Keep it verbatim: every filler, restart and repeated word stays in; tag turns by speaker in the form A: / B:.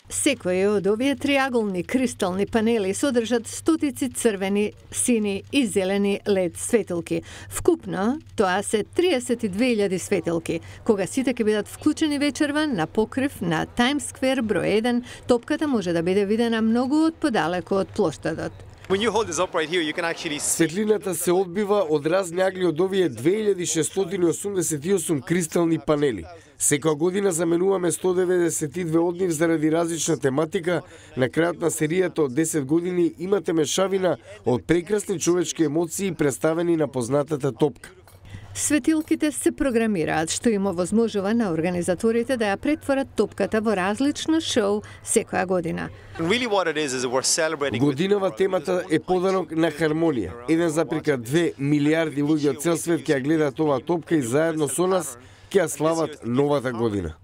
A: Секој од овие триаголни кристални панели содржат стотици црвени, сини и зелени лед светилки. Вкупно тоа се триесет и две илјади светилки. Кога сите ќе бидат вклучени вечерва на покрив на Times Square број еден, топката може да биде видена многу од подалеку од плоштадот.
B: Светлината се одбива од разни агли од овие две илјади шестстотини и осумдесет и осум кристални панели. Секоја година заменуваме сто деведесет и две од нив заради различна тематика. На крајот на серијата од десет години имате мешавина од прекрасни човечки емоции представени на познатата топка.
A: Светилките се програмираат, што им овозможува на организаторите да ја претворат топката во различно шоу секоја година.
B: Годинава темата е подарок на хармонија. еден запирка две милијарди луѓе од цел свет ќе ја гледаат оваа топка и заедно со нас ќе ја слават новата година.